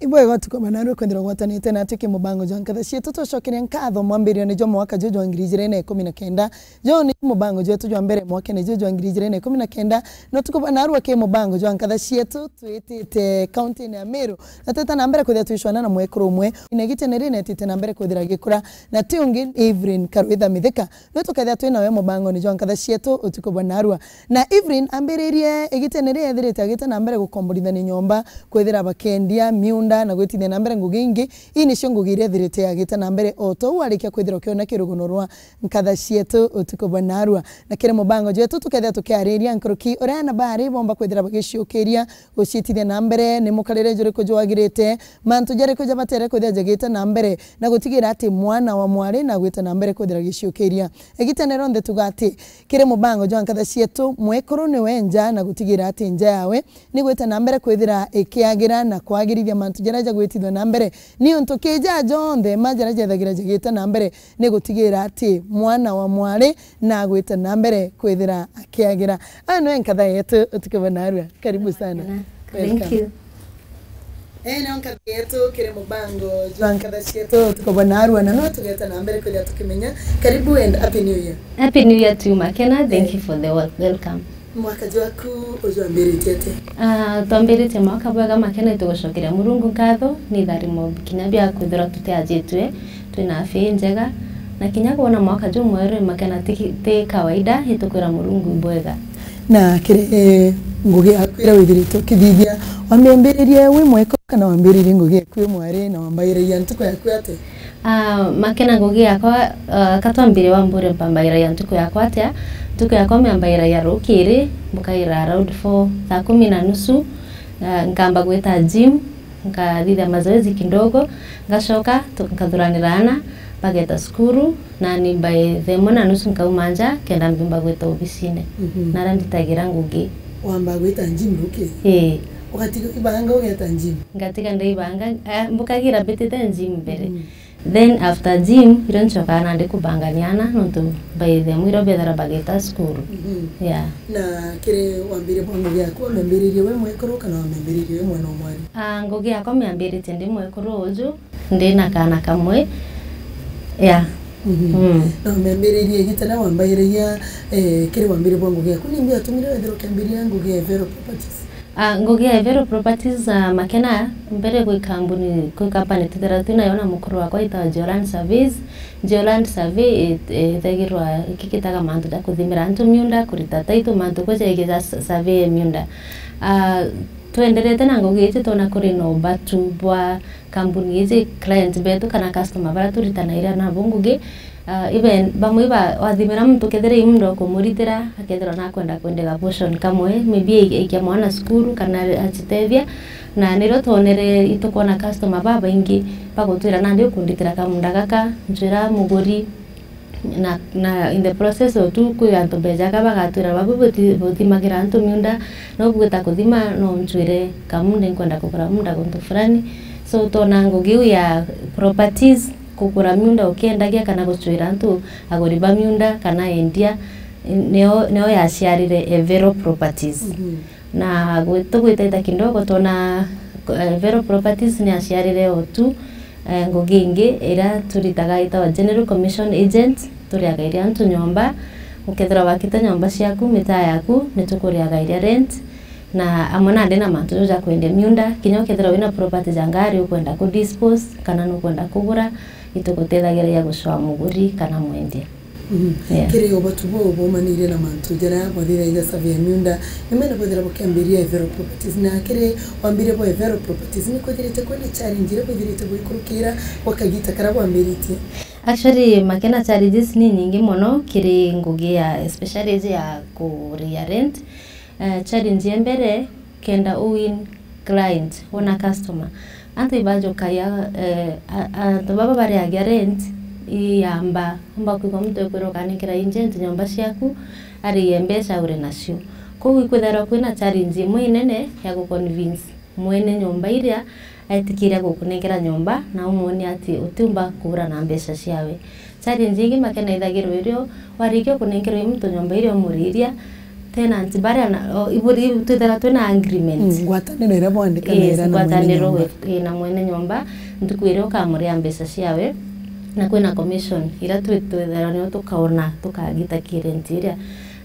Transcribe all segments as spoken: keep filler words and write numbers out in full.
Bwega utuku bwa narua kwithirwa gwatanite natwi ki mubango jwa nkatha cietu. Tucokeria nkatho mwambirione jwa mwaka juu jwa ngiri ijiri na ikumi na kenda. Juu ni mubango jwetu jwa mbere mwakene juu jwa ngiri ijiri na ikumi na kenda. Na utuku bwa narua ki mubango jwa nkatha cietu twitite kaunti-ini ya Meru. Na twita na mbere kwithira twicwana na mwekuru umwe. Ina gitene rinetite na mbere kwithira gikura. Na ti ungi Evelyn Karwitha Mithika. Nwe tukethira twi nawe mubangone jwa nkatha cietu utuku bwa narua. Na Evelyn ambiririe igitene riria ethirite agita na mbere gukomborithania nyomba, kwithira bakendia miunda na gwitithia na mbere ngugi ingi. Ii nicio ngugi iria ethirite agita na mbere o tou arikia kwithira ukiona kirugono rwa nkatha cietu utuku bwa narua. Na kiri mubango jwetu tukethira tukiariria nkuruki uria ana bari bomba kwithira bagiciukiria guciitithia na mbere, ni mukarire juriku jwagirite, mantu jariku jabatere kwithira jagite na mbere, na gutigira ati mwana wa mwari na gwita na mbere kwithira agiciukiria. Igitene rionthe tuga ati, kiri mubango jwa nkatha cietu, mwekuru niwe nja na gutigira ati nja yawe ni gwita na mbere kwithira ikiagira na kwagirithia mantu jaria jagwitithua na mbere. Niuntu kija jonthe ma jaria jethagira jagite na mbere ni gutigira ati mwana wa mwari na agwite na mbere kwithira akiagira. Aya niwe nkatha yetu utuku bwa narua. Karibu sana. Thank Welcome. you. Eh, niyo nkatha yetu kiri mubango jwa nkatha cietu utuku bwa narua, na no tugeta na mbere kwithira tukimenya. Karibu and happy new year. Happy New Year to you, Makena. Thank Eh. you for the wel- welcome. Mwaka jwaku ujwambiritie atia? Ah, twambiritie mwaka bwega, Makena, itugucokeria Murungu nkatho ni tharimo kinya bia kwithirwa tutiajitwe twina afya injega, na kinya kwona mwaka jumweru, Makena, ti ki- ti kawaida, itukwira Murungu ibwega. Na kiri, eh, ngugi yaku iria withirite ukithithia, wamiambiririe wi mwekuru kana wambiririe ngugi yaku wi mwari na wambairagia ntuku yaku atia? Ah, Makena, ngugi yakwa, ah, ka twambire wambure mpambairagia ntuku yakwa atia? Ntuku yakwa miambairagia rukiri, mbukaira around four, thaa kumi na nusu, ah, nkamba gwita gym, nkathithia mazoezi kidogo, ngacoka tu- nkathuranira ana, bageta cukuru, nani by thaa imwe na nusu nkauma nja, kenda mbiumba gwita obisine. Mhm. Naria nditagira ngugi. Wamba gwita gym rukiri? Ii. Ugatiga ibanga ugeta gym? Ngatiga ndaibanga, ah, mbukagira mbitite gym mbere. Mm. Then after gym, irio ncokaga nandi kubangania ana, nontu by the time irio bethira bagita cukuru. Mhm. Yeah. Na kiri wambire bwa ngugi yaku, wamembiririe we mwekuru kana wamembiririe we mwana o mwari? Ah, ngugi yakwa miambiritie ndi mwekuru uju, ndi na kaana kamwe. Yeah. Mhm. Mm. Na wamembiririe igita na wambairagia, eh, kiri wambire bwa ngugi yaku, nimbi yatumire wethira ukiambiria ngugi ya Evero Properties? Ah, ngugi ya Evero Properties, ah, Makena, mbere gwi kambuni, gwi company twithira twinayo na mukuru wakwa itawa Geoland Surveys. Geoland Survey i- ithagirwa ikigitaga mantu ja kuthimira antu miunda, kurita title, mantu kweja igeja s- survey ya miunda. Ah, twenderete na ngugi iji, twona kuri na ubatu bwa kambuni iji, client betu kana customer baria turitanagira nabo ngugi, Ah, even bamwe ba- wathimira muntu, kethira i muntu ukumuritira, akethirwa nakwenda kwendega portion kamwe, maybe ai- aikia mwana cukuru kana acitethia, na nirio twonere, itukwona customer babaingi bagutwira, "Nandi ukunditira kamunda gaka, ncwira muguri," na, na in the process o tu, kwi antu bejaga bagatwira, "Babu buti- buthimagira antu miunda, no bugwita kuthima, no ncwire kamunda, nkwenda kugura munda guntu fulani." So, twona ngugi iu ya properties, kugura miunda ukiendagia kana gucwira antu aguri ba miunda kana endia, nio, nio yaciarire Evero Properties. Mhm. Na gwi- tugwitete kidogo, twona, eh, Evero Properties ni yaciarire o tu, eh, ngugi ingi iria turitaga itawa General Commission Agent, turiagairia antu nyomba. Ukethirwa wakite nyomba ciaku, mitaa yaku, ni tukuriagairia rent. Na amwe nandi na mantu jau ja kwendia miunda, kinya ukethirwa wina property ja ngari ukwenda ku dispose, kana nukwenda kugura, itugutethagiria gucwaa muguri kana mwendia. Mhm. Yeah. Kiri ubatu buu bumanire na mantu jaria bwathithagia survey ya miunda, nimwene bwethira bukiambiria Evero Properties, na kiri wambire bwa Evero Properties, ni kwithirite kwina challenge iria bwithirite bwikurukira gwa kagita karia bwambiritie? Actually, Makena, challenges ni nyingi mono kiri ngugi ya, especially iji ya kuria rent. Eh, challenge ya mbere, kenda u win client, wona customer. Antu ibajukagia, eh, a- antu baba bariagia rent, iyamba, umba kwigua muntu ekwira, "Ukaninkira agent nyomba ciaku, ariie mbeca uri nacio." Koguo ikwithirwa kwina challenge imwe inene ya guconvince mwene nyomba iria aitikiria gukunenkera nyomba na umwonia ati utiumba kugura na mbeca ciawe. Challenge ingi, Makena, ithagirwa irio warikia kunenkerwa i muntu nyomba iria umuriria, tenant baria na, o, iburi twithira twina agreement. Mm, ngwataniro iria bwandikanaira na mwene ngwataniro nyomba. Wi-, wi na mwene nyomba, ntuku iria ukamuria mbeca ciawe, na kwina commission iria twi-, twithira nio tukaona, tukagita ki rent iria.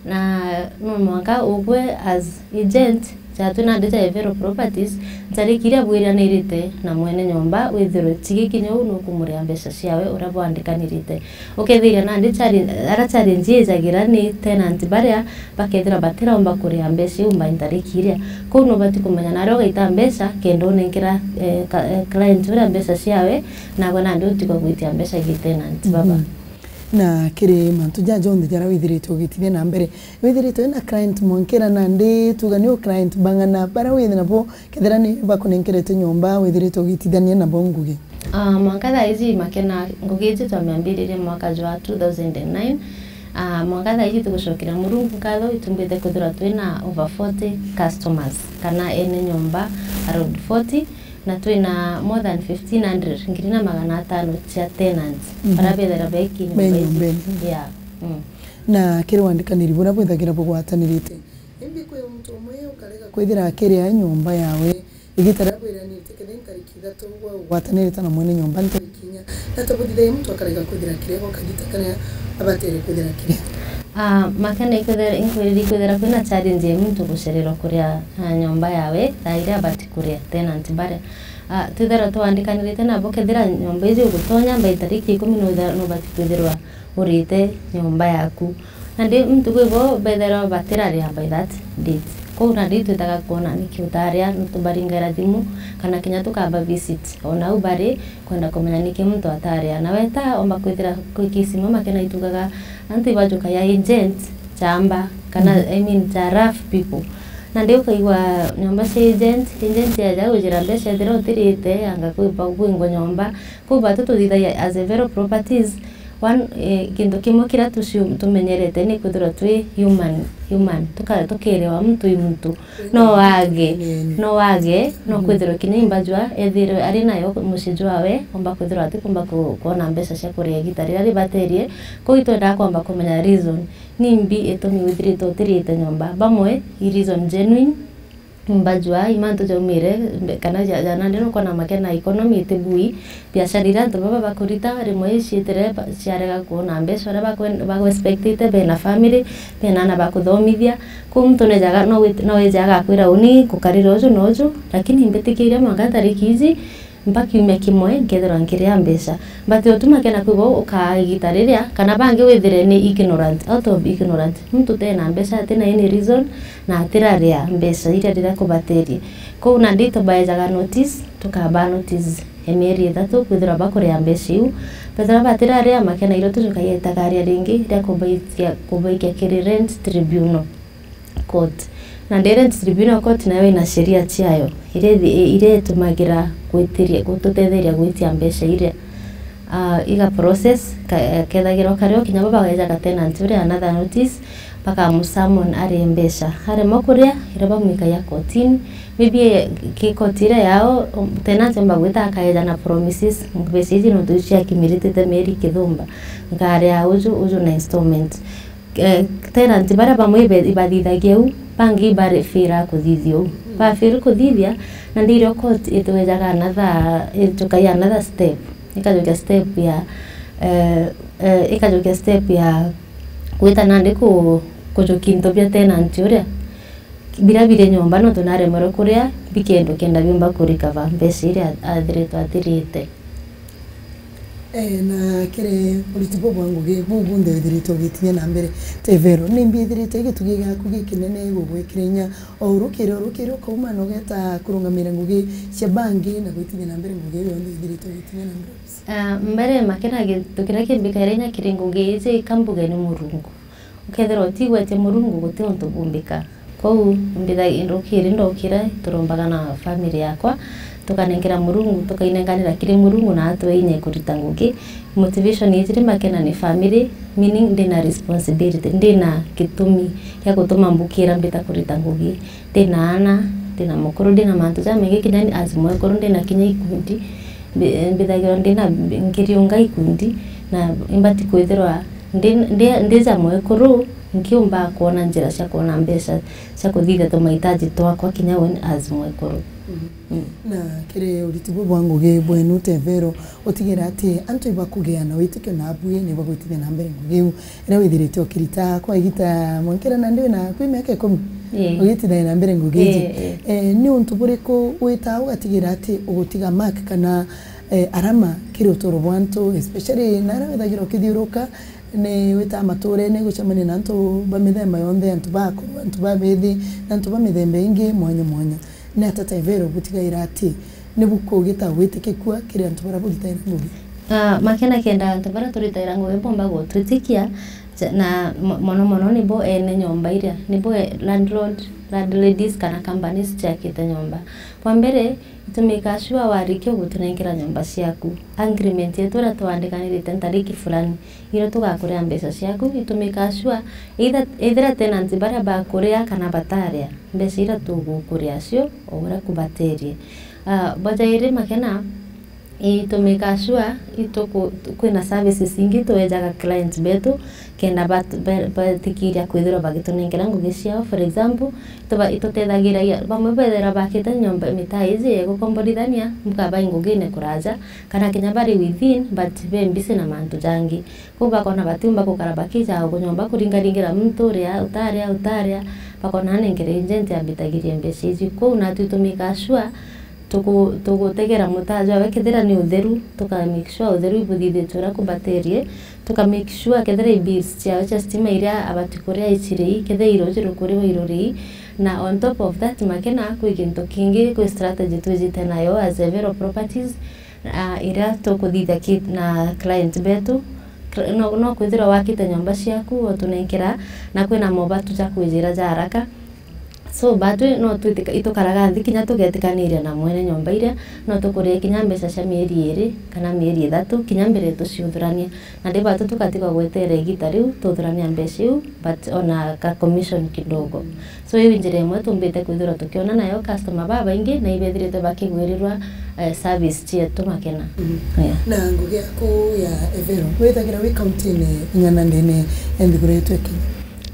Na no mwanka ugwe as agent, ja twi nandi ja Evero Properties, ntariki iria bwiranirite na mwene nyomba, withirwe chigi kinya uu nukumuria mbeca ciawe uria bwandikanirite. Ukethiria nandi challenge, ara challenge ijagira ni tenant baria bakethira batiraumba kuria mbeca iu mbai ntariki iria. Kou nubati kumenya naria ugaita mbeca kenda unenkera, eh, ka-, eh, client uria mbeca ciawe, nagwe nandi utigwa gwitia mbeca gi tenant baba. Mhm. Na kiri mantu jaja jonthe jaria withirite ugitithia na mbere, withirite wina client mwankira nandi tuga ni u client bang'ana baria wina nabo, kethira ni bakunenkerete nyomba withirite ugitithania nabo ngugi? Ah, mwanka thaa iji Makena, ngugi iji twamiambiririe mwaka jwa two thousand and nine. Ah, mwanka thaa iji tugucokeria Murungu nkatho, itumbite kwithirwa twina over forty customers, kana ene nyomba around forty, na twina more than fifteen hundred, ngiri na magana atano cia tenants, mhm, baria bethira beki nyomba iji. Be nyomba iji. Yeah. Mm. Na kiri wandikaniri buria bwithagira bugwatanirite, imbi kwi muntu umwe ukarega kwithira akiria nyomba yawe, igita riria bwiranirite kethira ni ntariki ithatu, gwa ugwatanirite na mwene nyomba ntariki inya, na ta buthithagia muntu akarega kwithira akiria gwa kagita karia abatere kwithira akiria? Ah, Makena ikwithira, inkwiriri ikwithira kwina challenge ya muntu gucererwa kuria, ah, nyomba yawe thaa iria abati kuria, tenant baria. Ah, twithirwa twandikanirite nabo, kethira nyomba iji ugutonya mbai tariki ikumi, nuthira-, nubati kwithirwa urite nyomba yaku. Nandi ntuku ibo bethirwa batiraria by that date. Kou nandi twitaga kwona niki utaria, nitubaringaira thimu, kana kinya tukaba visit o nau bari, kwenda kumenya niki muntu ataria. Na weta omba kwithira kwi kisi imwe Makena itugaga, antu ibajukagia agent chamba, kana, mhm, I mean, cha rough people. Nandi ukaigua nyomba cia agent, agent yaja ujira mbeca ethira utirite, anga kwi-, kwingwa nyomba. Kou batu tuthithagia as Evero Properties, one, eh, kintu kimwe kiria tuciu-, tumenyerete ni kwithirwa twi human, human. Tuka-, tukerewa muntu i muntu. No wage, no wage, no kwithirwa kinya imba jwa ethirwe ari nayo mucii jwawe, omba kwithirwa atikumba ku-, kwona mbeca cia kuria igita riria ribaterie. Kou itwendaa kwamba kumenya reason. Nimbi itumi withirite utirite nyomba? Bamwe i reason genuine, imba jwa i mantu jaumire, mbe-, kana ja-, ja nandi nukona Makena economy iti bui, biashara iria antu baba bakurita, rimwe iciitire ba-, ciarega kwona mbeca uria bakwen-, bagu-expectite, bena family, bena ana ba kuthomithia. Kou muntu nejaga, no wit-, no ejaga akwira, uni ngukarira uju na uju, lakini mbitikiria mwanka ntariki iji, mpa kiumia kimwe, nkethirwa nkiria mbeca. But utuma kena kwibo ukaa igita riria, kana bangi withire ni ignorant, out of ignorant. Muntu tena mbeca, atina any reason, na atiraria mbeca iria riria kubaterie. Kou nandi tubaejaga notice, tukaba notice ya mieri ithatu, kwithirwa bakuria mbeca iu. Bethirwa batiraria, Makena irio tujukagia itagaria ringi ria kubaikia, kubaikia kiri rent tribunal. Court. Na ndi rent tribunal court nayo ina sheria ciayo, iria ithi-, iria itumagira gwitiria, gututetheria gwitia mbeca iria. Ah, iga process, ka-, kethagirwa kario kinya bo bagejaga tenant uria another notice, bakamusummon arie mbeca. Aremwa kuria, iria bamwikagia kotini, maybe ki court iria yao, um, tenant omba gwita akaeja na promises, mbeca iji nontu cia accumulated mieri kithumba, nkaria uju, uju na installment. Eh, tenant baria bamwe ibe-, ibathithagia uu, bangi ibarefira kuthithia uu. Mm. Bafiri kuthithia, na ndirio court itwejaga another, itukagia another step. Ikajukia step ya, eh, eh, ikajukia step ya gwita nandi ku-, kujukia into bia tenant uria. Biria biri nyomba, nontu naremerwe kuria, bikendo kenda biumba kurecover mbeca iria athiritwe atirite. Eh, na kiri uriti buu bwa ngugi buu bunthe withirite ugitinya na mbere, Tevero, nimbi ithirite gitugi giaku gikinene gugwikira inya o urukiri, urukiri ukauma na ugeta kurungamira ngugi cia bangi na gwitinya na mbere ngugi iu yonthe ithirite ugitinya na mbere? Ah, mbere Makena, gintu kiria kimbikaira inya kiri ngugi iji, ikambuge ni Murungu. Ukethirwa utigwete Murungu, guti untu bumbika. Kwou mbitha-, ndukiri, ndokira, turombaga na family yakwa, tukanenkera Murungu, tukainenkanira kiri Murungu na atwe inya kurita ngugi. Motivation ijiri Makena ni family, meaning ndina responsibility, ndina gitumi gia gutuma mbukira mbita kurita ngugi. Ndina ana, ndina mukuru, ndina mantu jamaingi, kinya ni as mwekuru, ndina kinya ikundi, mbi-, mbithagirwa ndina, nkiriunga ikundi, na imbati kwithirwa Ndi, ndi, ndi ja mwekuru, nkiumba kwona njira cia kwona mbeca cia kuthithia tumahitaji twakwa kinya uni as mwekuru. Mm. Na kiri uriti buu bwa ngugi bwenu ta Evero, utigira ati antu ibakugia na witikio na abui ni bagwitithia na mbere ngugi iu iria withirite ukirita kwa igita mwankira nandi wina kwi miaka ikumi? Ii. Ugitithia na mbere ngugi iji. Ii, ii. Eh, ni untu buriku witaa ugatigira ati ugutiga mark kana, eh, arama kiri uturo bwa antu, especially na aria withagira ukithiuruka, ni witaa maturene gucemania na antu ba mithemba yonthe, antu ba akuru, antu ba bithi, na antu ba mithemba ingi mwanya mwanya. Ni ata ta Evero butigaira ati ni bukugita gwitikikua kiri antu baria buritaira ngugi? Ah, makena kenda antu baria turitaira ngugi bomba gutwitikia, ja-, na mo-, mono mono nibo ene nyomba iria, nibo e-, landlord, landladies kana companies ciakite nyomba. Bwa mbere, itumika sure warikia gutunenkera nyomba ciaku. Agreement yetu iria twandikanirite ntariki fulani, iria tugakuria mbeca ciaku, itumika sure either, ethira tenant baria bakuria kana bataria, mbeca iria tugukuria cio o uria kubaterie. Ah, bwa jairi makena, itumika sure ituku-, kwina services ingi twejaga clients betu, kenda bat-, ba-, batikiria kwithirwa bagitunenkera ngugi ciao. For example, ituba-, itutethagiria, bamwe bethira bakite nyomba mitaa iji ya gukomborithania, mbuka bai ngugine kuraja, kana kinya bari within, but be busy na mantu jangi. Kwou bakona batiumba gukara bakija o nyomba kuringaringira muntu uria, utaria, utaria, bakona nenkere agent ambitagirie mbeca iji. Kwou natwi tumikaa sure tuku-, tugutegera mutaa jwawe, kethira ni utheru, tuka make sure utheru ibuthithitue uria kubaterie, tuka make sure kethira i bills ciawe cia stima iria abati kuria iciri, kethira iroji rukuriwa iruri. Na on top of that, makena kwi gintu kingi, kwi strategy twijite nayo as Evero Properties, ah, iria tukuthithia ki-, na client betu. Cl-, no, no kwithirwa wakite nyomba ciaku, otunenkera, na kwina mobatu ja kwijira ja haraka. So, batwi no twitika-, itukaraga nthi kinya tugetikaniria na mwene nyomba iria, no tukurie kinya mbeca cia mieri iri kana mieri ithatu, kinya mbere tuciuthurania. Na ndi batu tugatigwa gweterera igita riu tuthurania mbeca iu, but ona ka commission kidogo. So, iu njira imwe tumbite kwithirwa tukiona nayo customer babaingi na ibethirite bakigwirirwa, eh, service cietu makena. Mhm. Yeah. Na ngugi yaku ya Evero, withagira wi kaunti-ini ing'ana ndene ya nthiguru yetu ya Kenya?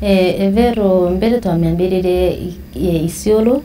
Eh, Evero mbere twamiambiririe i-, i-, Isiolo.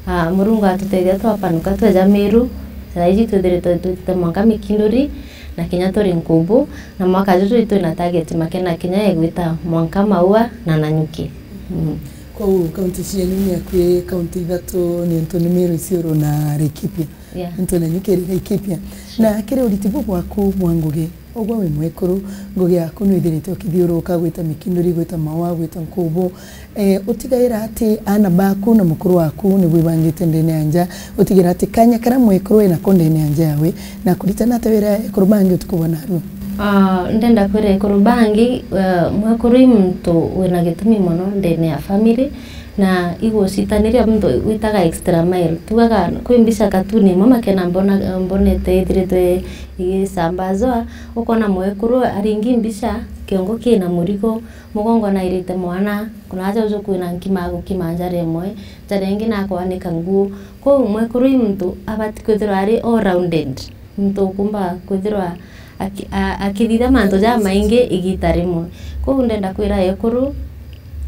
Ah, Murungu atutethia twapanuka tweja Meru. Thaa iji twithiritwe twitite mwanka Mikinduri na kinya turi Nkubu, na mwaka juju twina target makena kinya egwita mwanka Maua na Nanyuki. Mm. Kwou kaunti cienu ni akui kaunti ithatu, niuntu ni Meru, Isiolo na Laikipia. Yeah. Niuntu Nanyuki iri Laikipia. Sure. Na kiri uriti buu bwaku bwa ngugi, ugwe wi mwekuru, ngugi yaku ni withirite ukithiuruka gwita Mikinduri, gwita Maua, gwita Nkubu. Eh, utigaira ati aana baku na mukuru waku ni bwibangite ndene ya nja, utigira ati kanya karia mwekuru wi nako ndene ya nja yawe, na kuritana ata wira ekuru bangi utuku bwa narua? Ah, ndenda kwira ekuru bangi, eh, mwekuru i muntu wina gitumi mono ndene ya family, na igucitaniria muntu witaga extra mile. Tugaga kwi mbica katuni imwe makena mbona, mbonete ithiritwe igisambazwa, ukona mwekuru aringi mbica, kiongo kina murigo, mugongo nairite mwana, kuna aja uju kwina nkima agukima njara imwe, njara ingi nakwanika nguo. Kwou mwekuru i muntu abati kwithirwa ari all rounded, muntu ukumba kwithirwa aki-, a-, akithithia mantu jamaingi igita rimwe. Kwou ndenda kwira ekuru,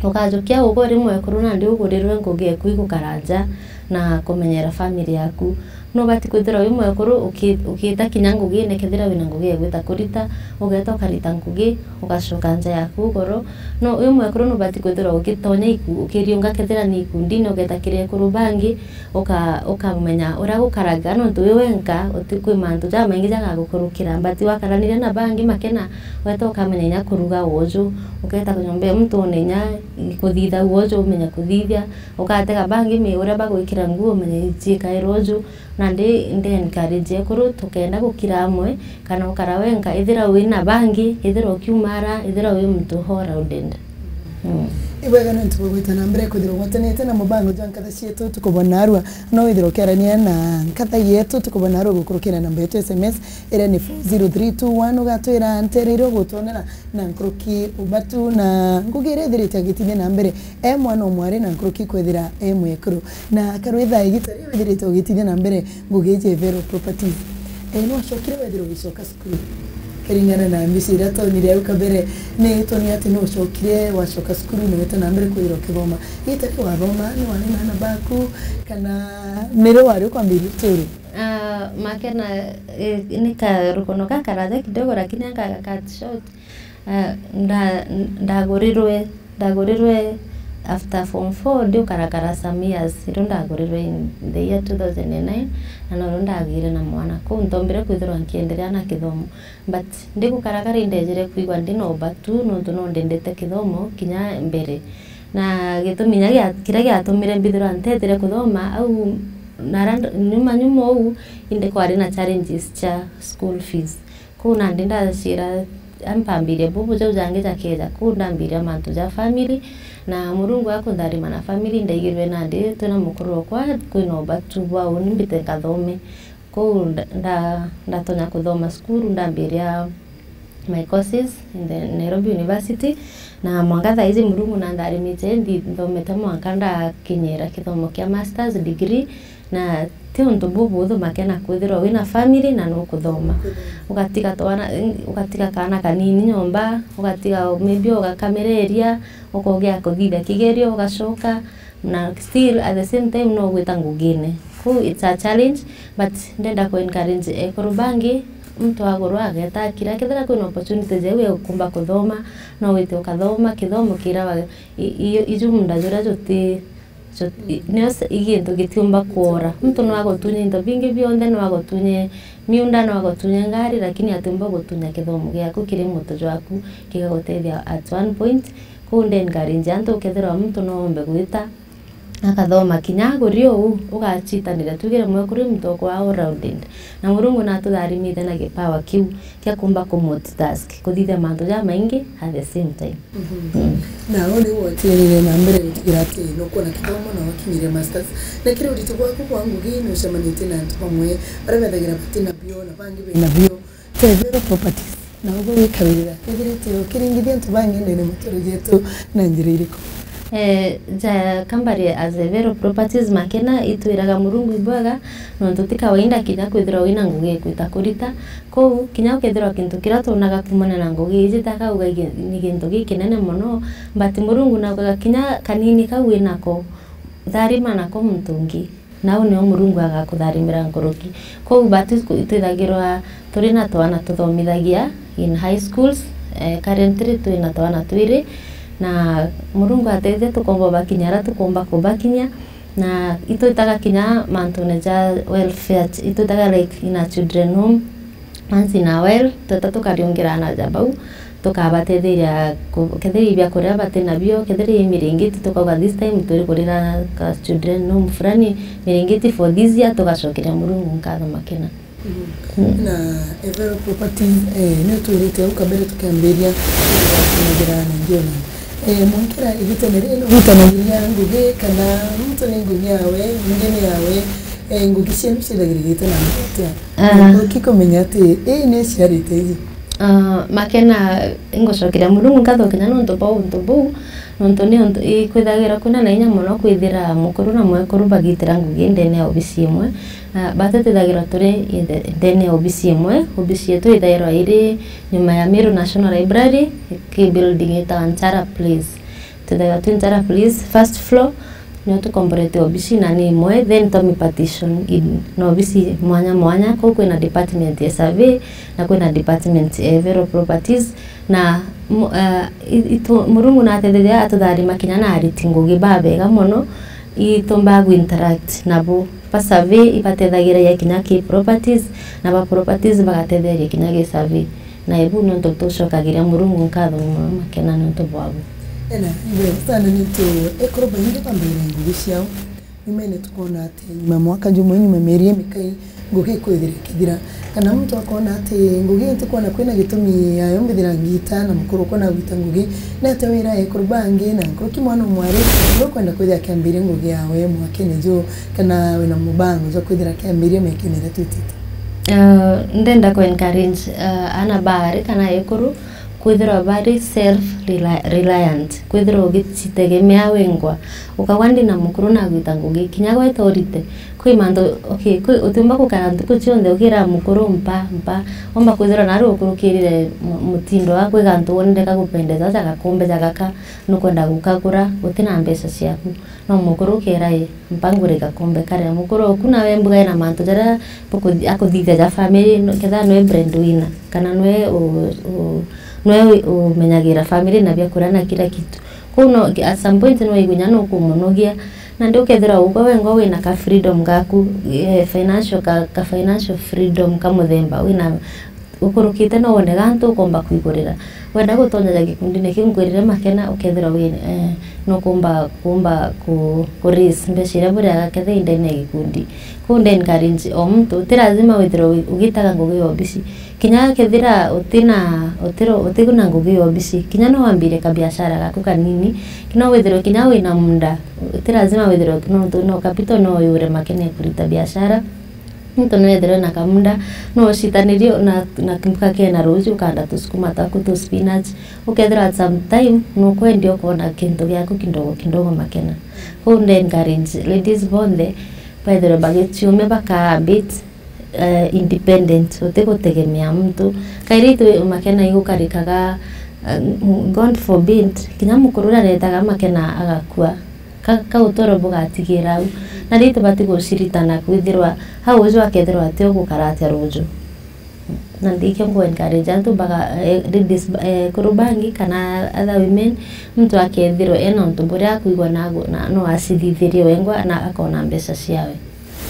ukajukia ugwe uri mwekuru nandi ugurirwe ngugi eku igukara nja na kumenyera family yaku. Nubati kwithirwa wi mwekuru uki-, ukiita kinya ngugine, kethira wina ngugi egwita kurita, ugeeta ukarita ngugi, ugacoka nja yaku ugoro. No wi mwekuru nubati kwithirwa ugitonya iku-, ukiriunga kethira ni ikundine, ugeeta kiri ekuru bangi, uka-, ukamenya uria gukaraga, nontu wi wenka, uti-, kwi mantu jamaingi jagagukurukira. But wakaraniria na bangi makena, ugeeta ukamenya inya kuruga uju, ugeeta nyomba ya muntu one inya kuthitha uju, umenya kuthithia, ugatega bangi mi-, uria bagwikira nguo, umenye iciikaira uju. Nandi ndi encourage ekuru tukenda gukira amwe, kana ukara wenka, ethira wina bangi, ethira ukiumara, ethira wi muntu all rounded. Mm. Ibwega nontu bwa gwita na mbere kwithirwa ugwatanite na mubango jwa nkatha cietu tukubona arua. No withirwa ukiarania na nkatha yetu tukubona arua gukurukira namba yetu S M S iria ni four zero three two one, ugatwira ntereire ugutwonera na nkuruki ubatu na ngugi iria ithirite agitithia na mbere e mwana o mwari na nkuruki kwithira e mwekuru. Na karwitha igita riu withirite ugitithia na mbere ngugi iji Evero Properties. E, nwacokire wethirwa ugicoka cukuru? Kiringana na mbica iria twonire au kabere, ni twonire ati ni ucokire, wacoka cukuru, na wita na mbere kwithirwa ukithoma. Gitari wathoma, ni wari na ana baku, kana ni ri wari ukwambiria uturo? Ah, Makena, eh, ni karukono gakaraja kidogo, lakini aka cut short. Ah, nda-, ndagurirwe, ndagurirwe after form four, ndi ukarakara some years, irio ndagurirwe in the year two thousand and nine, na norio ndagire na mwana. Kuu ntombire kwithirwa nkienderea na kithomo. But ndi gukarakara indejire kwigua ndi na ubatu, nontu no ndendete kithomo kinya mbere. Na gitumi kinya gia-, kiria giatumire mbithirwa ntetire kuthoma, au nara nd-, nyuma nyuma uu, indi kwari na challenges cia school fees. Kuu nandi ndacira, ampambiria bubu jau jangi jakeja, kuu ndambiria mantu ja family, na Murungu akuntharima na family, ndaigirwe nandi twina mukuru okwa kwina ubatu bwa uni mbite nkathome. Kuu nda-, nda-, ndatonya kuthoma cukuru, ndambiria my courses in the Nairobi University, na mwanka thaa iji Murungu nantharimite, ndi-, nthomete mwanka ndakinyira kithomo kia masters degree, na ti untu bubuthu Makena kwithirwa wina family na nukuthoma. Ugatiga twana, ugatiga kaana kanini nyomba, ugatiga maybe ugakamereria, ukogea kuthithia kigerio, ugacoka, na still at the same time no gwita ngugine. Kuu it's a challenge, but ndenda ku encourage ekuru bangi, muntu agurwa ageta akira, kethira kwina opportunity jau ya kumba kuthoma, no wite ukathoma, kithomo kirawa i-, i-, iju munda juria juti, ju-, i-, nio se-, i gintu gitiumba kwora. Muntu no agutunye into bingi bionthe, no agutunye miunda, no agutunye ngari, lakini atiumba gutunya kithomo giaku kiri mutu jwaku, gigagutethia at one point. Kuu nde encourage antu, ukethirwa muntu no ombe gwita, akathoma kinya aguri uu, ugachitanira, tugire mwekuru muntu okwa all rounded. Na Murungu natutharimite na gipawa kiu kia kumba ku multitask, kuthithia mantu jamaingi at the same time. Mhm. Mm. Na uu niu watirire na mbere gutigira ati nukwona kithomo na wakinyire masters. Na kiri uritu bwaku bwa ngugi, nucemanitie na antu bamwe baria bethagira batina bio na bangi bena bio. Tethero Properties, na uguo wikawirira, kethirite ukiringithia antu bangi ndene muture jetu na njira iriku? Eh, ja kambari as a Vero Properties Makena, itwiraga Murungu ibwega, nontu ti kawaida kinya kwithirwa wina ngugi ikwita kurita. Kou, kinya ukethirwa kintu kiria twonaga kumana na ngugi iji, takauga igi-, ni gintu gikinene mono, but Murungu naugaga kinya kanini kau winako, tharima nako muntu ungi. Nau nio Murungu agakutharimira nkuruki. Kou batu twithagirwa turi na twana tuthomithagia in high schools, eh, currently twi na twana twiri, na Murungu atethia tukomba bakinya aria tukomba kubakinya, na itwitaga kinya mantune ja welfare, itwitaga like in a children home, once in a while, tweta tukariungira aana ja bau, tukabatetheria ku-, kethira i biakuria bati nabio, kethira i miringiti, tukauga, "This time turi kurira ka children home fulani, miringiti for this year," tugacokeria Murungu nkatho Makena. Mhm. Mm. Na Evero Properties, eh, ni utwirite au kabere tukiambiria kumagira na ngiona. Eh, mwankira igitene riri, no gwitanagiria ngugi kana muntu ni ngugi yawe, ngugi ni yawe, eh, ngugi cienu ciithagirigite na ngugi atia? Ah. Nkuruki kumenya ati ii ni iciarite iji. Ah, Makena, ingucokeria Murungu nkatho kinya nontu bwa untu buu, nontu ni untu, i, kwithagira kwina na inya mono kwithira mukuru na mwekuru bagitira ngugi ndene ya obisi imwe. Ah, batu twithagirwa turi i the, ndene ya obisi imwe. Obisi yetu ithairwa iri nyuma ya Meru National Library, ki building itawa Nchara Place. Twithagirwa twi Nchara Place, first floor, nio tukomborete obisi na ni imwe, then twa mi partition in na obisi mwanya mwanya. Kou kwina department ya survey, na kwina department ya Evero Properties, na mu-, eh, i-, itu-, Murungu natetheria atutharima kinya na ariti ngugi babega mono, itumbaa gu interact nabo. Ba survey ibatethegereria kinya ki properties, na ba properties bagatethegeria kinya ki survey. Na ibu nontu tucokagiria Murungu nkatho mono Makena nontu bwabu. Ena, ibe, sana nitu, ekuru baingi bambaire ngugi ciao. Nyumene tukona ati nyuma mwaka jumwe, nyuma mieri imikai, ngugi ikwithira ikithira. Kana muntu akona ati ngugi ntikwona kwina gitumi yayo mbithira ngita na mukuru ukona gwita ngugi. Ni atia wira ekuru bangi na nkuruki mwana umwari, ukwenda kwithira akiambiria ngugi yawe mwakene ju? Kana wina mubango jwa kwithira akiambiria miakene iria twitite? Ah, ndenda ku encourage, ah, ana baari kana ekuru kwithirwa bari self reli-, reliant, kwithirwa ugicitegemea wengwa. Ukauga ndi na mukuru nagwita ngugi, kinya gweta urite, Kwi mantu, okay, kwi, utiumba gukara ntuku cionthe ukira mukuru mpa, mpa. Omba kwithirwa nari ukurukirire mu-, mutindo wa kwi gantu wonere gagupendeza, ja gakombe ja gaka nukwenda gukagura, utina mbeca ciaku. No mukuru ukera, "Ii, mpa ngure gakombe karia." Mukuru oku nawe mbuga ena mantu jaria bukuthi-, akuthithia ja family, no, kethira nwe breadwinner, kana nwe u-, u-, nwe u-, umenyagira family na biakuria na kila kitu. Kou no, at some point no wigwe nya nukumunogia, na ndi ukethirwa ugwe wengwa wina ka freedom gaku, eh, financial, ka, ka financial freedom ka muthemba wina ukurukite, no wone gantu ukomba kwigurira. Wenda gutonyeria gikundine kiu, nkwirire Makena, ukethirwa wi, eh, nukumba, kumba ku, ku raise mbeca iria buriaga kethira i ndene ya gikundi. Kou ndi encourage o muntu, ti lazima withirwe wi-, ugitaga ngugi ya obisi. Kinya kethira utina, utiro, utina ngugi ya obisi, kinya no wambire kabiashara gaku kanini, no withirwe kinya wina munda, ti lazima withirwe, no, no capital no uyure Makena ya kurita biashara. Muntu no ethirwe na kamunda, no ucitanirie na, na kimbuga kena ruuji, ukanda tusukuma twaku, tu spinach, ukethirwa at some time nukwendia ukona kintu giaku kidogo kidogo Makena. Kou ndi encourage ladies bonthe bethirwe bagiciume baka a bit, eh, independent, utigutegemea muntu. Kairi itu Makena igukarikaga, eh, God forbid, kinya mukuru uria aretaga Makena agakua. Ka, ka utoro bugatigira au. Na riu tubati guciritana kwithirwa hau uju akethirwa ati ugukara atia ruuju. Na ndikio ngu encourage antu baga, eh, ladies, eh, kuru bangi kana other women, muntu akethirwa ena untu buria akwigua na, na no acithithirie wengwa na akona mbeca ciawe.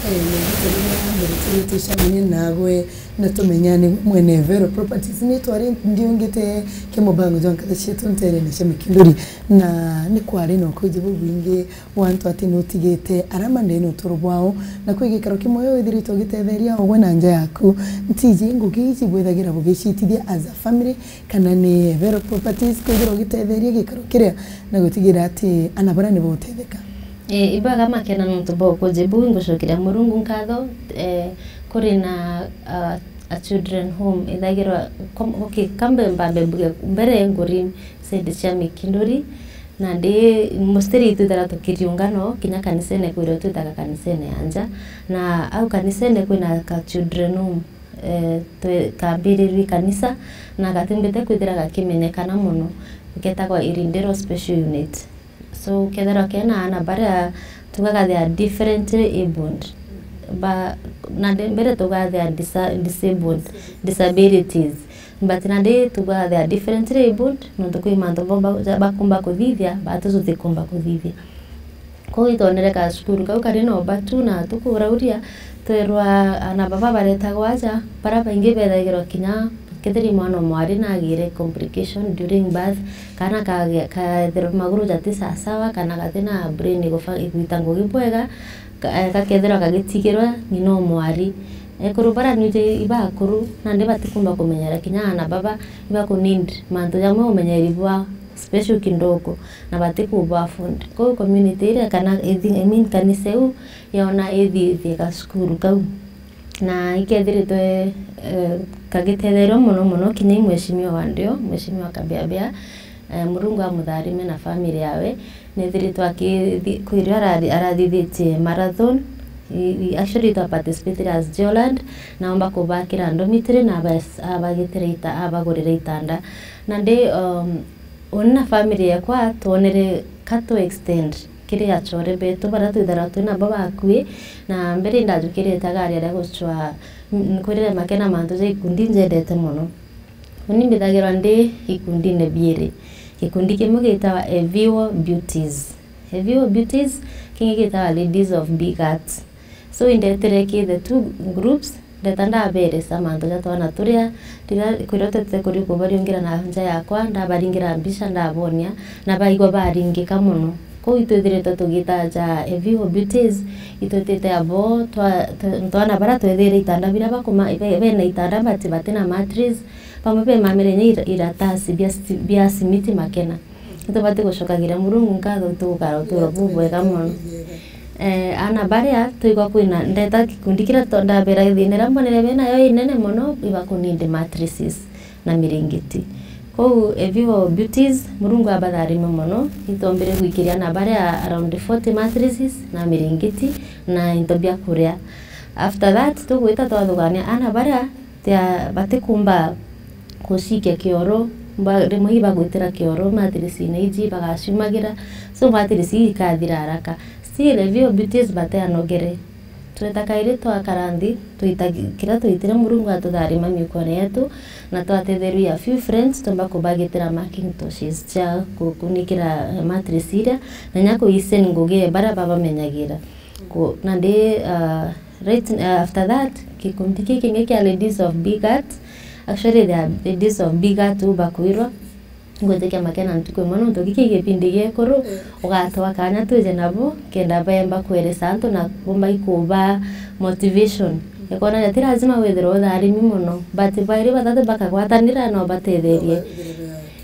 Eh, na gitari na mbere tucemanie nagwe na tumenyane mwene Vero Properties. Ni twari ndiungite kimubango jwa nkatha cietu nterene cia Mikinduri, na ni kwari na ukuji bubwingi wa antu ati nutigite arama ndene uturo bwao, na kwi gikaro kimwe withiritwe ugitetheria ugwe na nja yaku. Ntiji ngugi iji bwithagira bugicitithia as a family, kana ni Vero Properties kwithirwa ugitetheria gikaro kiria na gutigira ati ana baria ni bautetheka? Eh, ibaga Makena nontu bwa ukuji buu, ngucokeria Murungu nkatho, eh, kuri na, ah, a children home ithagirwa, kom-, okay, kambe mbambe mbuge mbere nguri side cia Mikinduri, na ndi mostly twithaga tukiriunga no kinya kanisene, kwirwo twithaga kanisene ya nja, na au kanisene kwina ka children home, eh, twe-, kambirirwi kanisa, na gatimbite kwithira gakimenyekana mono, getagwa Irindiro Special Unit. So, kethirwa kena ana baria tugaga they are differently abled. Ba, na de-, mbere tugaga they are disa-, disabled, disabilities. But nandi tugaga they are differently abled, nontu kwi mantu bo ba-, ja-, bakumba kuthithia, batu tutikumba kuthithia. Kou itwonere ka cukuru kau kari na ubatu na tukurauria, twerwa ana baba baretagwa aja, baria baingi bethagirwa kinya kethira mwana o mwari nagire complication during birth, kana kage-, kethirwa maguru jati sasawa, kana gati na brain igufa-, igwita ngugi bwega, ka-, eh, gakethirwa gagitigirwa ng'ina o mwari. Ekuru baria nwiji ibakuru, nandi batikumba kumenyera kinya ana baba, ibaku need mantu jamwe umenyeri bwa special kidogo, na batikubu afford. Kou community iria kana ithi-, I mean, kanisa iu yona ithithie gacukuru kau. Na ikethiritwe, eh, kagitetheerua mono mono kinya i mheshimiwa wa ndio, mheshimiwa Kabeabea, eh, Murungu amutharime na family yawe. Nethiritwe akithi-, kwirio arari-, arathithitie marathon. I, i, actually, twa participate as Geoland, na omba kubakira dormitory na abas-, abagitira ita-, abagurira itanda. Na ndi, um, uni na family yakwa twonere ka tu extend kiri achore betu baria twithagirwa twi nabo bakui, na mbere indajukirite gari aria gucwa, n-, nkwirire Makena mantu ja ikundi njendete mono. Uni mbithagirwa ndi ikundine biiri. Gikundi kimwe gitawa Eviwo Beauties. Eviwo Beauties, kingi gitawa Ladies of Big Hearts. So, indetire ki the two groups, ndeta ndaberesa mantu ja twana turia, riria kwirotete kuri kubariungira na nja yakwa, ndabaringira mbica, ndabonia, na baigua baringika mono. Kou itwithiritwe tugita ja Eviwo Beauties, itwitite abo twa-, twa-, twana baria twethire itanda biria bakuma-, be-, bena itanda but batina mattress, bamwe bemamire nya ira-, iratasi bia sti-, bia simiti Makena. Nitubati gucokagira Murungu nkatho, tugukara uturo bubwega mono. Eh, ana baria twigwa kwina, ndeta gikundi kiria to-, ndabera thina iria mbonere benayo inene mono, ibakunindi mattresses na miringiti. Kou Eviwo Beauties, Murungu abatharime mono, itwombire gwikiria na baria around forty mattresses na miringiti na into bia kuria. After that, tugwita twathugania ana baria tia-, batikumba gucikia kioro, ba-, rimwe ibagwitira kioro mattress-ini iji bagaciumagira, so mattress ii ikathira haraka. Still, Eviwo Beauties bateanogere. Tweta kairi twakara nthi, twita gi-, kiria twitire Murungu atutharima miukone yetu, na twatetherua a few friends, tumba kubagitira Macintoshes cia ku-, kunikira, eh, mattress iria, na nya kuisen ngugi baria babamenyagira. Ku-, nandi, ah, right, ah, after that, gikundi kii kingi kia Ladies of Big Heart, actually, they are Ladies of Big Heart u bakwirwa, ngwitikia makena ntuku imwe, nontu giki gipindi giekuru, ugatwa kanya twije nabo, kenda bemba kweresa antu na bumba ikuba motivation. Ikona ti lazima withirwe utharimi mono, but bairi bathatu bakagwatanira no batetherie.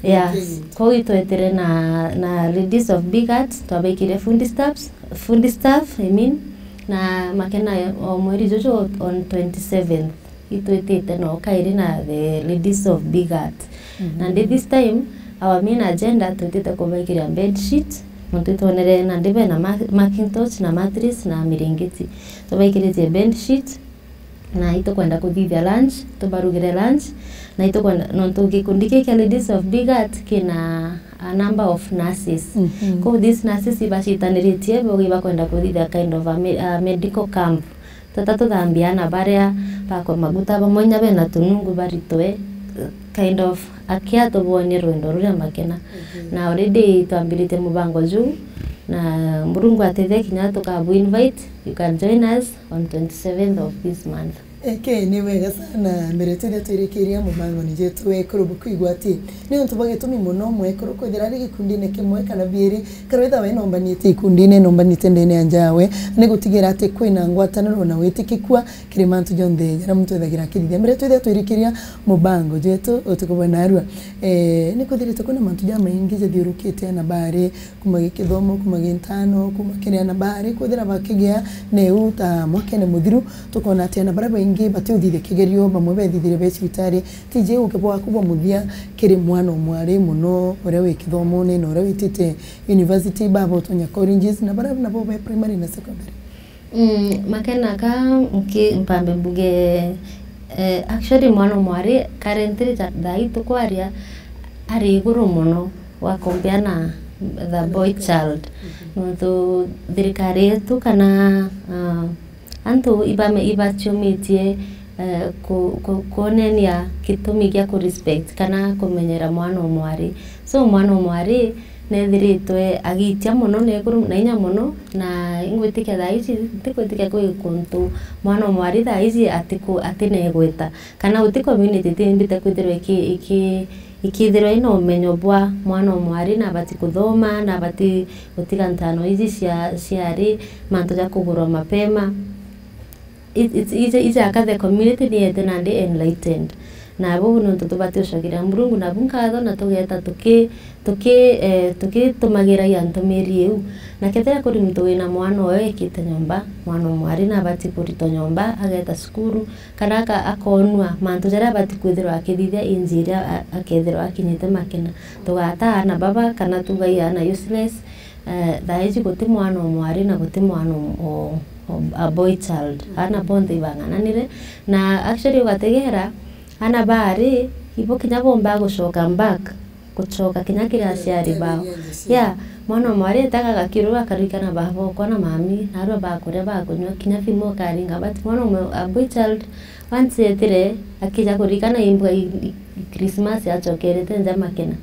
Yes, kou itwetire na, na Ladies of Big Heart, twabaikirie food stamps, food staff, I mean, na makena o mweri juju on twenty-seventh. Itwitite no kairi na the Ladies of Big Heart. Mhm. Nandi this time, our main agenda twitite kubaikiria bed sheet, nontu itwonere nandi bena ma-, Macintosh na mattress na miringiti. Tubaikiritie bed sheet, na itukwenda kuthithia lunch, tubarugire lunch, na itukwenda, nontu gikundi giki kia Ladies of Big Heart kina a number of nurses. Mhm. Kou these nurses ibacitaniritie, bogi bakwenda kuthithia kind of a me-, a medical camp. Tweta tuthambia ana baria bakwa maguta, bamwe inya bena tunungu baritwe, kind of, akia tubonie rwendo ruria makena. Mhm. Na already twambiritie mubango juu, na Murungu atethia kinya tukabu invite, you can join us on twenty-seventh of this month. Eke, ni wega sana. Mbere twithe twirikiria mubangoni jetu, ekuru bukwigua ati ni untu bwa gitumi mono mwekuru kwithira ari gikundine kimwe kana biiri, kana witha we nombanite ikundine, nombanite ndene ya njawe, ni gutigira ati kwina ngwataniro na witikikua kiri mantu jonthe jaria muntu ethagira akithithia. Mbere twithe twirikiria mubango jetu utuku bwa narua, eh, ni kwithirite kwina mantu jamaingi jathiurukite na bari, kuma gikithomo, kuma gintano, kuma kiri ana bari, kwithira bakigia neu ta mwakene muthiru, tukona ati ana baria baingi batiuthithia kigerio, bamwe bethithire be cibitari. Tiji uke bwaku bwa muthia kiri mwana umwari mono uria wi kithomone na uria witite university, baba utonya colleges, na baria nabo be primary na secondary? Mm, makena ka nki mpambe mbuge, eh, actually mwana umwari currently ja-, thaa ii tukwaria ari iguru mono wa compare na the boy child. Mhm. Nontu thirikari yetu kana, ah, antu ibame-, ibaciumitie, eh, ku-, ku-, kwonenia gitumi gia ku respect kana kumenyera mwana umwari. So mwana umwari nethiritwe agitia mono na iguru na inya mono, na ingwitikia thaa ici, ntikwitikia kwi kuntu mwana umwari thaa ici atiku-, atinegweta. Kana guti community itimbite kwithirwa iki-, iki-, ikithirwa ina umenyo bwa mwana umwari na abati kuthoma, na abati gutiga ntano iji cia, ciari mantu ja kugurwa mapema. It, it, ija, ija aka the community ni yete nandi enlightened. Na buu nontu tubati ucokeria Murungu nabu nkatho na tugeta tuki-, tuki-, eh, tukitumagiragia ntumiri iu. Na kethira kuri muntu wina mwana uyo ekite nyomba, mwana umwari na abati kuritwa nyomba, ageta cukuru, kana aka-, akonua mantu jaria abati kwithirwa akithithia inji iria a-, akethirwa akinyite makena. Tugata aana baba, kana tugai aana useless, eh, thaa iji guti mwana umwari na guti mwana um-, o-, o-, a boy child. Aana bonthe ibang'ananire. Na actually ugategera, aana baari, ibo kinya bombaa gucoka back. Gucoka kinya kiri aciari bao. Yeah, mwana umwari etaga gakiru akarikana baba okwa na mami, narua bakuria bakunywa, kinya thimu ukaringa, but mwana umwe, a boy child, once etire, akija kurikana imbwa i, i, Christmas acokerete nja makena.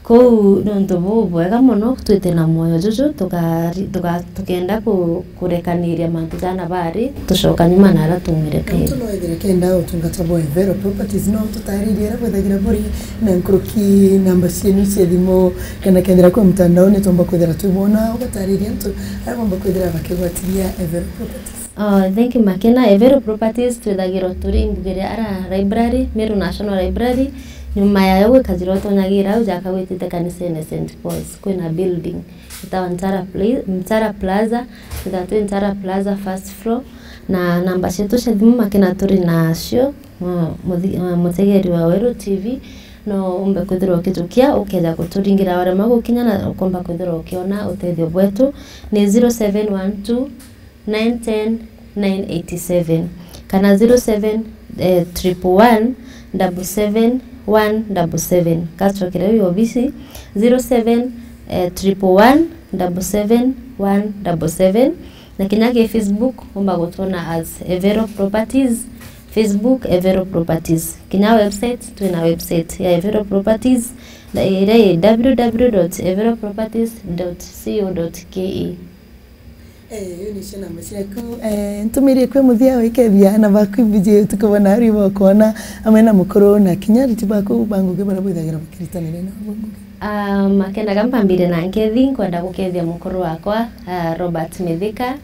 Kou nontu buu bwega mono, twite na mwoyo juju, tukari-, tuka-, tukenda ku-, kurekaniria mantu jana bari, tucoka nyuma na aria tumire kairi. Muntu no ethire kenda utungata bwa Evero Properties, no tutaririe aria bwethagira buri na nkuruki namba cienu cia thimu, kana kethira kwi mtandaoni tumba kwithira twibona, ugatariria antu aria bomba kwithira bakigwatiria Evero Properties. Oh, thank you, Makena. Evero Properties twithagirwa turi mbuge ria ara library, Meru National Library, nyuma yayo gwi kajira utonyagira au jaka gwitite kanisene Saint Paul's, kwina building. Itawa Mtara Pla-, Mtara Plaza, itawa twi Mtara Plaza first floor, na namba cietu cia thimu Makena turi nacio, mu-, muthi-, uh, mutegeri wa Weru T V, No umbe kwithirwa ukitukia, ukeja kuturingira warema gukinya na ukomba kwithirwa ukiona utethio bwetu. Ni zero seven one two nine ten nine eighty seven kana zero seven triple one double seven one double seven. Kacokere uyu obisi, zero seven triple one double seven one double seven. Na kinya ki Facebook umba gutwona as Evero Properties, Facebook Evero Properties. Kinya website, twina website ya Evero Properties, na iria i www dot everoproperties dot co dot ke. Eh, iyo nicio namba ciaku. Eh, ntumirie kwi muthia wikethia ana baku ibiji utuku bwa naarua ibokwona, amwe na mukuru na kinya ariti baku ba ngugi baria bwithagira bakiritanire na bo ngugi. Ah, makendaga mpambire na nkethi, nkwenda gukethia mukuru wakwa, ah, Robert Mithika.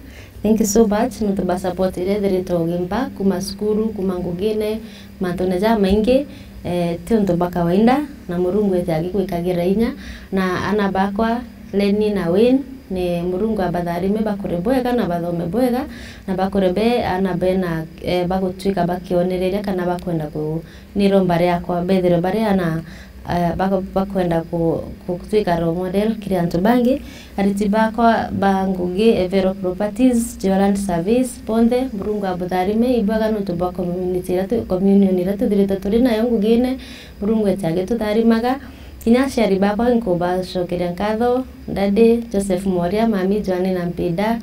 Thank you so much, nontu bwa support iria ithiritwe ugimpa kuma cukuru, kuma ngugine, mantune jamaingi, eh, ti untu bwa kawaida, na Murungu ete agigwikagira inya, na ana bakwa, Lenny na Wayne, ni Murungu abatharime bakure bwega na bathome bwega, na bakure be ana bena, eh, bagutwika bakionereria kana bakwenda ku-, ni romba riakwa bethirwe bari ana, eh, bako-, bakwenda ku-, gutwika role model kiri antu bangi. Ariti bakwa ba ngugi, Evero Properties, Joland Service, bonthe, Murungu abutharime, ibwega nontu bwa community iria tu-, communion iria tuthiritwe turi nayo ngugine, Murungu ete agitutharimaga. Kinya aciari bakwa nkubacokeria nkatho, Daddy Joseph Moria, Mami Joanne na Mpinda,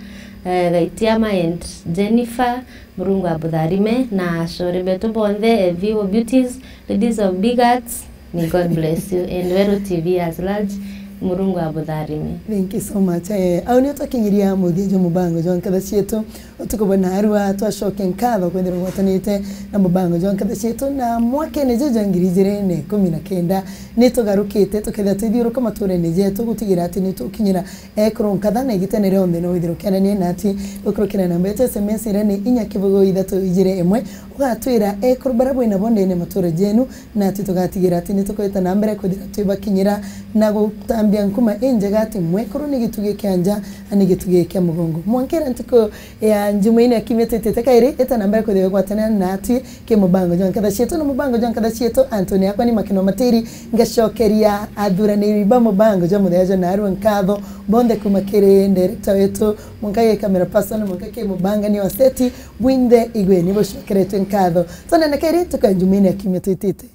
eh, Gaitiama and Jennifer, Murungu abutharime, na acore betu bonthe, eh, V O Beauties, Ladies of Big Hearts, may God bless you, and Weru T V as large, Murungu abutharime. Thank you so much. Eh, au nio twakinyiria muthia jwa mubango jwa nkatha cietu. Utuku bwa naarua twacokia nkatho kwithirwa ugwatanite na mubango jwa nkatha cietu na mwakene juju jwa ngiri ijiri na ikumi na kenda. Ni tugarukite tukethira twithiuruka maturene jetu gutigira ati ni tukinyira ekuru nkatha na igitene rionthe no withirwe ukiarania nati gukurukira namba yetu S M S iria ni inya kibugu ithatu ijiri imwe. Ugatwira ekuru baria bwinabo ndene matura jenu, nati tugatigira ati ni tukwita na mbere kwithira twibakinyira na gutambia nkuma injega ati mwekuru ni gitugi kia nja, na ni gitugi kia mugongo. Mwankira ntuku ya Njumaine ya kiumia twitite kairi, ita na mbere kwithirwa gwatania natwi ki mubango jwa nkatha cietu na mubango jwa nkatha cietu. Antoni akwa ni Makino Matiri, ngacokeria athuraniri ba mubango jwa muthenya jwa naarua nkatho bonthe kuma kiri director wetu, mwanka ki camera person, mwanka ki mubangani wa seti, bwinthe igwe ni bucokeretwe nkatho. Twonane kairi ntuku ya Njumaine ya kiumia twitite.